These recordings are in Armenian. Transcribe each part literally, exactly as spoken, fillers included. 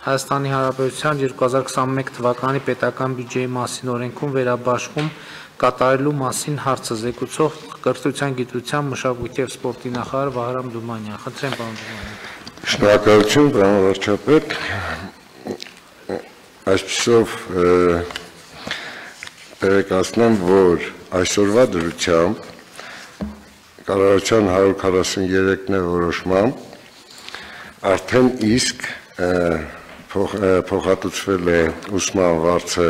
Հայաստանի Հանրապետության երկու հազար քսաներկու թվականի պետական բյուջեի մասին օրենքում վերաբաշխում կատարելու մասին հարցը զեկուցող կրթության, գիտության, մշակույթի և սպորտի նախարար Վահրամ Դումանյան։ Խնդրեմ, պարոն Դումանյան։ Շնորհակալություն, պարոն վարչապետ։ Այսպիսով տեղեկացնեմ, որ այսօրվա դրությամբ կառավարության հարյուր քառասուներեք որոշմամբ արդեն իսկ փոխհատուցվել է ուսման վարձը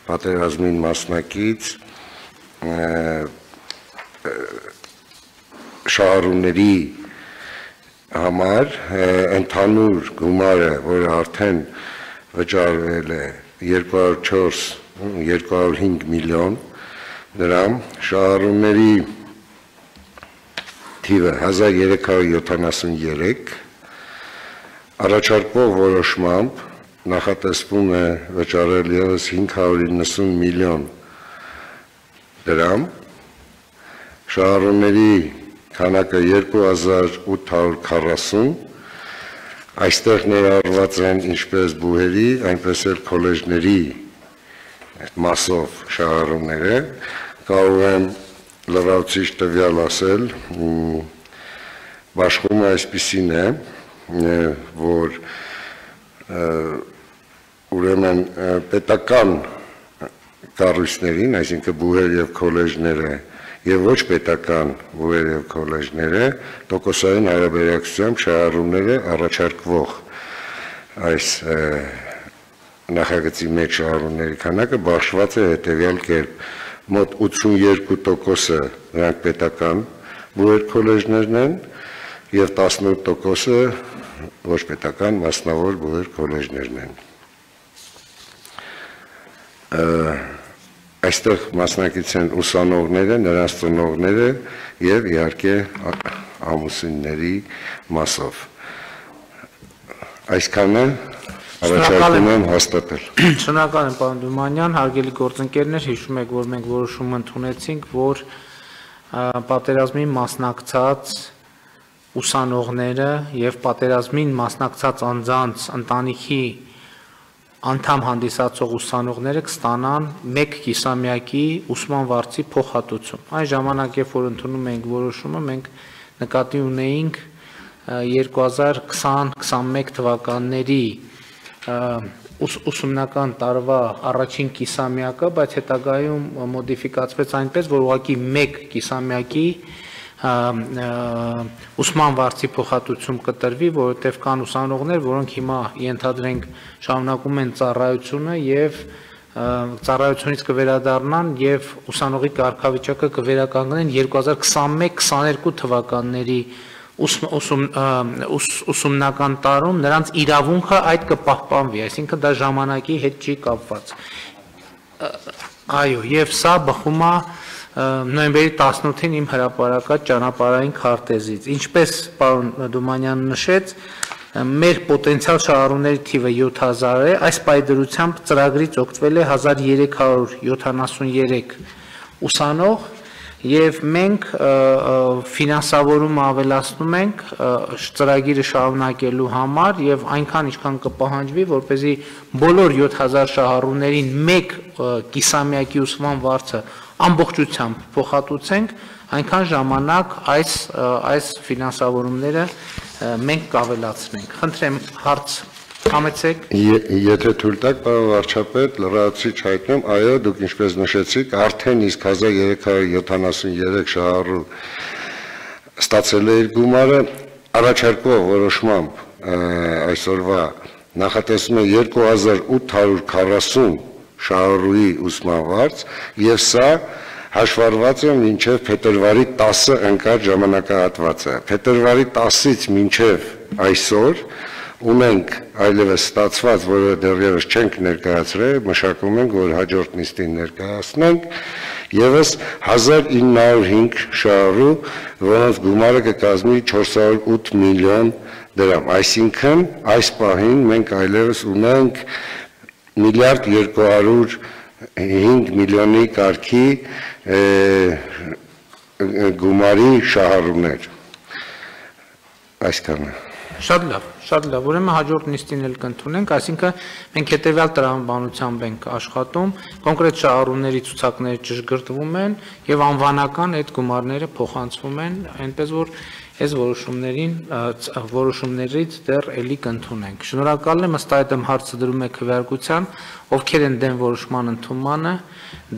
պատերազմին մասնակից շահառուների համար ընդհանուր գումարը, որը արդեն վճարվել է երկու հարյուր չորս երկու հարյուր հինգ միլիոն դրամ, շահառուների թիվը հազար երեք հարյուր յոթանասուներեք, առաջարկվող որոշմամբ նախատեսվում է վճարել ևս հինգ հարյուր իննսուն միլիոն դրամ, շահառուների քանակը երկու հազար ութ հարյուր քառասուն, այստեղ ներառված են ինչպես բուհերի, այնպես էլ քոլեջների մասով շահառուները, կարող եմ լրացուցիչ տվյալ ասել, բաշխումը այսպիսին է, որ ուրեմն պետական կառույցներին, այսինքն բուհեր եւ քոլեջները եւ ոչ պետական բուհեր եւ քոլեջները տոկոսային հարաբերակցությամբ շահառուները առաջարկվող այս նախագծի մեջ շահառուների քանակը բաշխված է հետեւյալ կերպ. մոտ ութսունյերկու տոկոսը նրանք պետական բուհեր քոլեջներն են եւ տասնութ տոկոսը ոչ պետական մասնավոր բուհեր քոլեջներն են։ Այստեղ մասնակից են ուսանողները, նրանց ծնողները եւ իհարկե ամուսինների մասով։ Այսքանը առաջարկում եմ հաստատել։ Շնորհակալ եմ, պարոն Դումանյան, հարգելի գործընկերներ, հիշում եք, որ մենք որոշում ընդունեցինք, որ պատերազմին մասնակցած ուսանողները եւ պատերազմին մասնակցած անձանց ընտանիքի անդամ հանդիսացող ուսանողները կստանան մեկ կիսամյակի ուսման վարձի փոխհատուցում։ Այն ժամանակ, երբ որ ընդունում էինք որոշումը, մենք նկատի ունեինք երկու հազար քսան քսանմեկ թվականների ուսումնական տարվա առաջին կիսամյակը, բայց հետագայում մոդիֆիկացվեց այնպես, որ ուղղակի մեկ կիսամյակի ուսման վարձի փոխհատուցում կտրվի, որովհետև կան ուսանողներ, որոնք հիմա ենթադրենք շարունակում են ծառայությունը եւ ծառայությունից կվերադառնան եւ ուսանողի կարգավիճակը կվերականգնեն երկու հազար քսանմեկ քսաներկու թվականների ուսումնական տարում նրանց իրավունքը այդ կպահպանվի, այսինքն դա ժամանակի հետ չի կապված։ Այո, եւ սա բխում է նոյեմբերի տասնութին իմ հրապարակած ճանապարհային քարտեզից։ Ինչպես պարոն Դումանյանը նշեց, մեր պոտենցիալ շահառուների թիվը յոթ հազար է, այս պայդրությամբ ծրագրից օգտվել է հազար երեք հարյուր յոթանասուներեք ուսանող եւ մենք ֆինանսավորումը ավելացնում ենք ծրագիրը շարունակելու համար եւ այնքան ինչքան կպահանջվի, որպեսզի բոլոր յոթ հազար շահառուներին մեկ կիսամյակի ուսման վարձը ամբողջությամբ փոխհատուցենք, այնքան ժամանակ այս այս ֆինանսավորումները մենք կավելացնենք։ Խնդրեմ հարց համեցեք։ Եթե թույլ տաք, պարոն վարչապետ, լրացուցիչ հայտնեմ, այո, դուք ինչպես նշեցիք, արդեն իսկ հազար երեք հարյուր յոթանասուներեք շահառու ստացել է իր գումարը, առաջարկվող որոշմամբ այսօրվա նախատեսվում է երկու հազար ութ հարյուր քառասուն շահառուի ուսման վարձ եւ սա հաշվառված է մինչև փետրվարի տասը ընկած ժամանակահատվածը։ Փետրվարի տասից մինչև այսօր ունենք այլևս ստացված, որը դեռևս չենք ներկայացրել, մշակում ենք, որ հաջորդ նիստին ներկայացնենք, եւս հազար ինը հարյուր հինգ շահառու, որոնց գումարը կկազմի չորս հարյուր ութ միլիոն դրամ։ Այսինքն այս պահին մենք այլևս ունենք միլիարդ երկու հարյուր հինգ միլիոնի կարգի գումարի շահառուներ։ Այսքանը։ Շատ լավ, Շատ լավ, ուրեմն հաջորդ նիստին էլ կընդունենք, այսինքն մենք հետևյալ տրամաբանությամբ ենք աշխատում, կոնկրետ շահառուների ցուցակները ճշգրտվում են եւ անվանական այդ գումարները փոխանցվում են, այնպես որ այս որոշումներին որոշումներից դեռ էլի կընդունենք։ Շնորհակալ եմ, ըստ այդմ հարցը դրում է քվեարկության, ովքեր են դեմ որոշման ընդունմանը,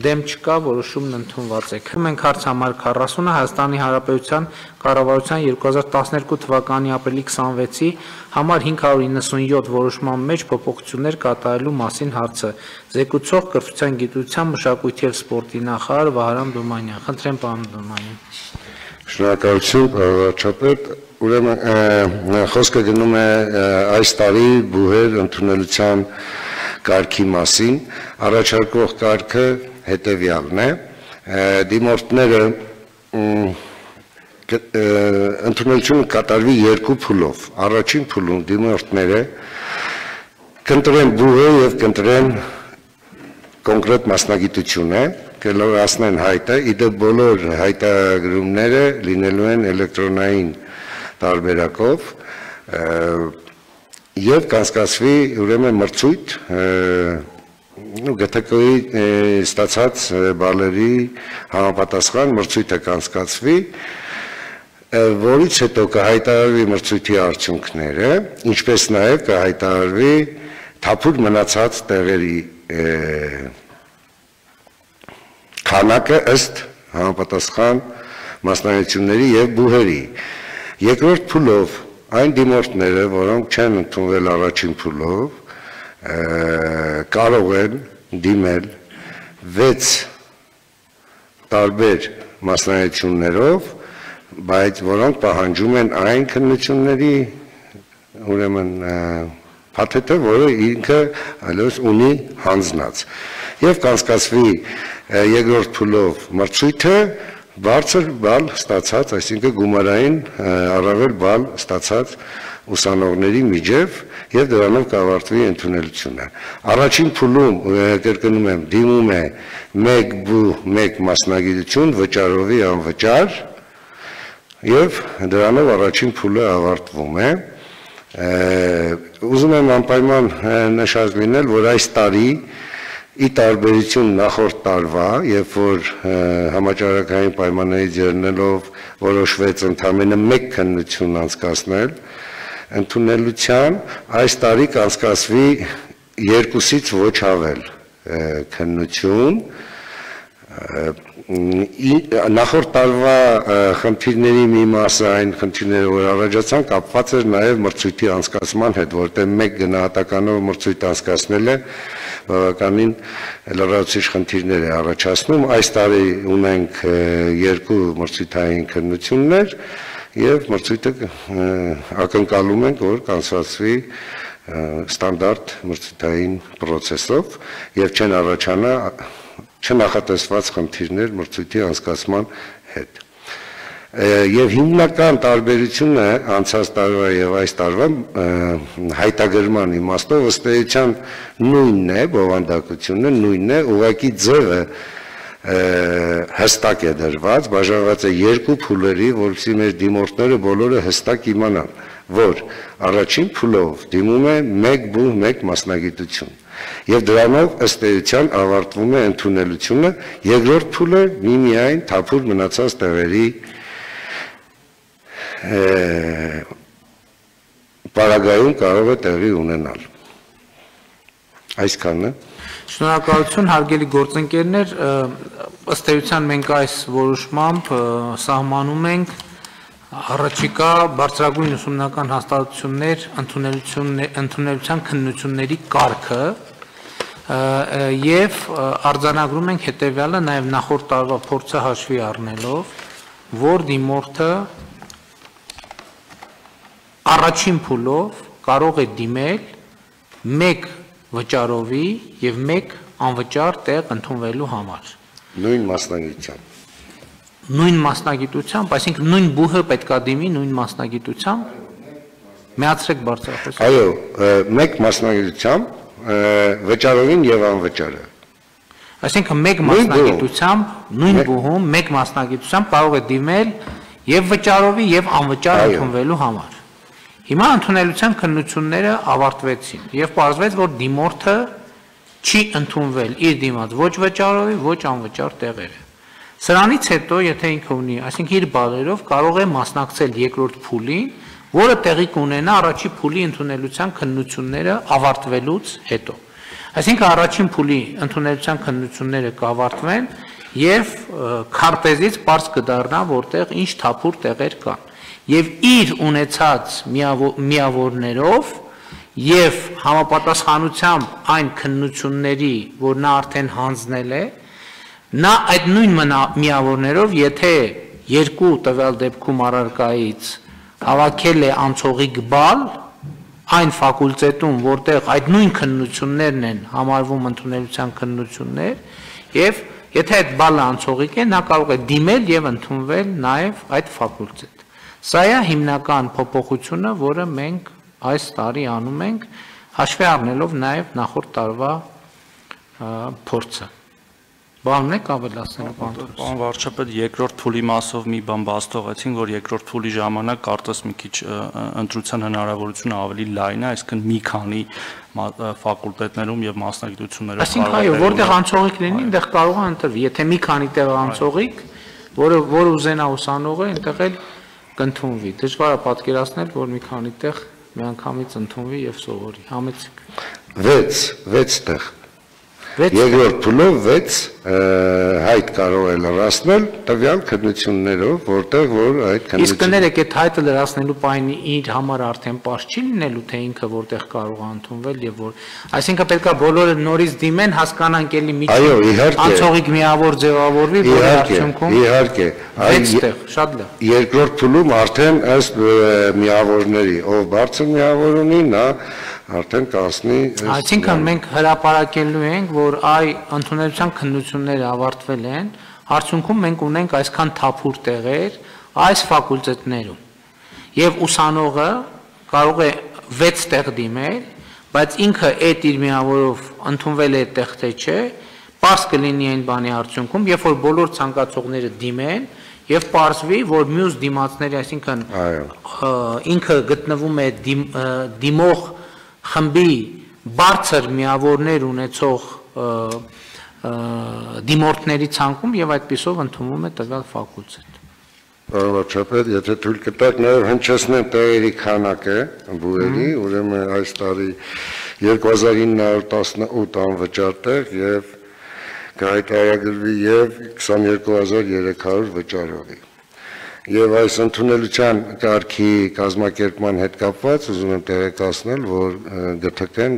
դեմ չկա, որոշումն ընդունված է։ Մենք հարց համար քառասունը Հայաստանի Հանրապետության կառավարության երկու հազար տասներկու թվականի ապրիլի քսանվեցի համար հինգ հարյուր իննսունյոթ որոշման մեջ փոփոխություններ կատարելու մասին հարցը։ Զեկուցող կրթության, գիտության, մշակույթի և սպորտի նախարար Վահրամ Դոմանյան։ Խնդրեմ, պարոն Դոմանյան։ Շնորհակալություն, պարոն վարչապետ, ուրեմն խոսքը գնում է այս տարի բուհեր ընդունելության կարգի մասին, առաջարկվող կարգը հետևյալն է, դիմորդները ընդունելությունը կատարվի երկու փուլով, առաջին փուլում դիմորդները կընտրեն բուհը և կընտրեն կոնկրետ մասնագիտությունը, կլորացնեն հայտը, իդե բոլոր հայտագրումները լինելու են էլեկտրոնային տարբերակով եւ կանցկացվի ուրեմն մրցույթ ԳԹԿ-ի ստացած բալերի համապատասխան մրցույթը կանցկացվի, որից հետո կհայտարարվի մրցույթի արդյունքները, ինչպես նաեւ կհայտարարվի թափուր մնացած տեղերի քանակը ըստ համապատասխան մասնագիտությունների եւ բուհերի։ Երկրորդ փուլով այն դիմորդները, որոնք չեն ընդունվել առաջին փուլով, կարող են դիմել վեց տարբեր մասնագիտություններով, բայց որոնք պահանջում են այն քննությունների ուրեմն փաթեթը, որը ինքը այլևս ունի հանձնած։ Եվ կանցկացվի երկրորդ փուլով մրցույթը բարձր բալ ստացած, այսինքն գումարային առավել բալ ստացած ուսանողների միջև եւ դրանով կավարտվի ընդունելությունը։ Առաջին փուլում, կրկնում եմ, դիմում է մեկ բու, մեկ մասնագիտություն, վճարովի անվճար եւ դրանով առաջին փուլը ավարտվում է։ Ուզում եմ անպայման նշած լինել, որ այս տարի ի տարբերություն նախորդ տարվա, երբ որ համաճարակային պայմաններից ելնելով որոշվեց ընդամենը մեկ քննություն անցկացնել ընդունելության, այս տարի կանցկացվի երկուսից ոչ ավել քննություն։ Նախորդ տարվա խնդիրների մի մասը, այն խնդիրները, որ առաջացան, կապված էր նաև մրցույթի անցկացման հետ, որտեղ մեկ գնահատականով մրցույթ անցկացնելը բավականին լրացուցիչ խնդիրներ է առաջացնում։ Այս տարի ունենք երկու մրցույթային քննություններ եւ մրցույթը ակնկալում ենք, որ կանցկացվի ստանդարտ մրցույթային process-ով եւ չեն առաջանա չնախատեսված խնդիրներ մրցույթի անցկացման հետ։ Եվ հիմնական տարբերությունը անցած տարվա եւ այս տարվա հայտագրման իմաստով ըստ էության նույնն է, բովանդակությունը նույնն է, ուղղակի ձևը հստակ է դրված, բաժանված է երկու փուլերի, որովհետեւ մեր դիմորդները բոլորը հստակ իմանան, որ առաջին փուլով դիմում է մեկ բու, մեկ մասնագիտություն։ Եվ դրանով ըստ էության ավարտվում է ընդունելությունը, երկրորդ փուլը միմիայն թափուր մնացած տեղերի պարագայում կարող է տեղի ունենալ։ Այսքանն է։ Շնորհակալություն, հարգելի գործընկերներ, ըստ էության մենք այս որոշմամբ սահմանում ենք առաջիկա բարձրագույն ուսումնական հաստատություններ ընդունելության քննությունների կարգը եւ արձանագրում ենք հետեւյալը, նաեւ նախորդ տարվա փորձը հաշվի առնելով, որ դիմորդը առաջին փուլով կարող է դիմել մեկ վճարովի եւ մեկ անվճար տեղ ընդունվելու համար։ Նույն մասնագիտությամբ։ Նույն մասնագիտությամբ, այսինքն նույն բուհը պետքա դիմի նույն մասնագիտությամբ։ Միացրեք բարձրախոս։ Այո, մեկ մասնագիտությամբ, վճարովին եւ անվճարը։ Այսինքն մեկ մասնագիտությամբ, նույն բուհում, մեկ մասնագիտությամբ կարող է դիմել եւ վճարովի եւ անվճար ընդունվելու համար։ Հիմա ընդունելության քննությունները ավարտվեցին եւ պարզվեց, որ դիմորդը չի ընդունվել իր դիմաց ոչ վճարովի, ոչ անվճար տեղերը։ Սրանից հետո, եթե ինքը ունի, այսինքն իր բալերով կարող է մասնակցել երկրորդ փուլին, որը տեղի կունենա առաջի փուլի ընդունելության քննությունները ավարտվելուց հետո։ Այսինքն առաջին փուլի ընդունելության քննությունները կավարտվեն եւ քարտեզից པարզ կդառնա, որտեղ ինչ թափուր տեղեր կան։ Եվ իր ունեցած միավորներով եւ համապատասխանությամբ այն քննությունների, որ նա արդեն հանձնել է, նա այդ նույն միավորներով, եթե երկու տվյալ դեպքում առարկայից հավաքել է անցողիկ բալ, այն ֆակուլտետում, որտեղ այդ նույն քննություններն են համարվում ընդունելության քննություններ, եւ եթե այդ բալը անցողիկ է, նա կարող է դիմել եւ ընդունվել նաեւ այդ ֆակուլտետ։ Սա է հիմնական փոփոխությունը, որը մենք այս տարի անում ենք, հաշվի առնելով նաեւ նախորդ տարվա փորձը։ Բանն եք ավելացնելու բանտորս։ Պարոն վարչապետ, երկրորդ փուլի մասով մի բան բաց թողեցին, որ երկրորդ փուլի ժամանակ կարծես մի քիչ ընտրության հնարավորությունը ավելի լայն է, այսինքն մի քանի ֆակուլտետներում եւ մասնագիտություններում։ Այսինքն այո, որտեղ անցողիկ լինի, այնտեղ կարող է ընտրվի։ Եթե մի քանի տեղ անցողիկ, որը որ ուզենա ուսանողը, այնտեղ էլ կընդունվի։ Դժվար է պատկերացնել, որ մի քանի տեղ միանգամից ընդունվի եւ սովորի։ Համեցեք։ վեց, վեց տեղ։ Երկրորդ փուլով վեց հայտ կարող է լրացնել տվյալ քննություններով, որտեղ որ այդ քննությունները։ Իսկ կներեք, այդ հայտը լրացնելու պահին իր համար արդեն պարզ չի լինելու, թե ինքը որտեղ կարող է ընդունվել եւ որ, այսինքն պետք է բոլորը նորից դիմեն, հասկանանք էլի միջին անցողիկ միավոր ձևավորվի, որի արդյունքում իհարկե, այստեղ շատ լավ։ Երկրորդ փուլում արդեն ըստ միավորների, ով բարձր միավոր ունի, նա արդեն կասնի։ Այսինքն մենք հրապարակելու ենք, որ այ ընդունելության քննությունները ավարտվել են, արդյունքում մենք ունենք այսքան թափուր տեղեր այս ֆակուլտետներում։ Եվ ուսանողը կարող է վեց տեղ դիմել, բայց ինքը այդ իր միավորով ընդունվել է այդտեղ թե չէ, պարզ կլինի այն բանի արդյունքում, երբ որ բոլոր ցանկացողները դիմեն եւ պարզվի, որ մյուս դիմացների, այսինքն ինքը գտնվում է դիմող խմբի բարձր միավորներ ունեցող դիմորդների ցանկում եւ այդպիսով ընդունվում է տվյալ ֆակուլտետ։ Պարոն վարչապետ, եթե թույլ կտաք նաեւ հնչեցնեմ տեղերի քանակը բուհերի, ուրեմն այս տարի երկու հազար ինը հարյուր տասնութ անվճար տեղ եւ կհայտարարվի եւ քսաներկու հազար երեք հարյուր վճարովի։ Եվ այս ընդունելության կարգի կազմակերպման հետ կապված ուզում եմ տեղեկացնել, որ ԳԹԿ-ն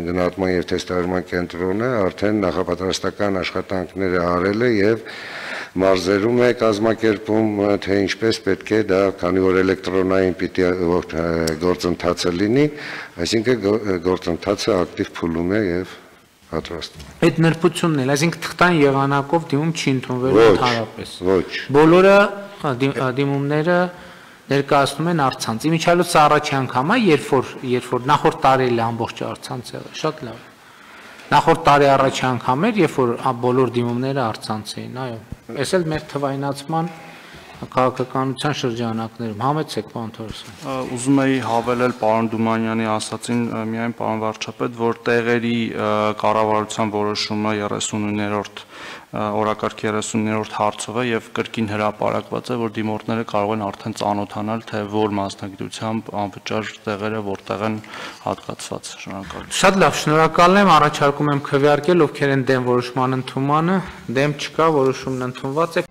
գնահատման եւ թեստավորման կենտրոնը արդեն նախապատրաստական աշխատանքները արել է եւ մարզերում է կազմակերպում, թե ինչպես պետք է դա, քանի որ էլեկտրոնային պիտի գործընթացը լինի, այսինքն գործընթացը ակտիվ փուլում է եւ պատրաստվում։ Այդ նրբությունն էլ, այսինքն թղթան եղանակով դիմում չի ընդունվելու ընդհանրապես։ Ոչ։ Բոլորը դիմումները ներկայացնում են առցանց։ Իմիջիայլոց առաջի անգամ է, երբ որ երբ որ նախորդ տարի էլ ամբողջ առցանց եղել, շատ լավ։ Նախորդ տարի առաջի անգամ էր, երբ որ բոլոր դիմումները առցանց էին, այո։ Այս էլ մեր թվայնացման քաղաքականության շրջանակներում համեցեք պարոն Թորոսյան։ Ուզում էի հավելել պարոն Դումանյանի ասացին միայն պարոն վարչապետ, որ տեղերի կառավարության որոշումը երեսուններորդ օրակարգի երեսուններորդ հարցով է եւ կրկին հրապարակված է, որ դիմորդները կարող են արդեն ծանոթանալ, թե որ մասնագիտությամբ անվճար տեղերը որտեղ են հատկացված։ Շնորհակալ։ Շատ լավ, շնորհակալ եմ, առաջարկում եմ քվեարկել, ովքեր են դեմ որոշման ընդունմանը, դեմ չկա, որոշումն ընդունված է։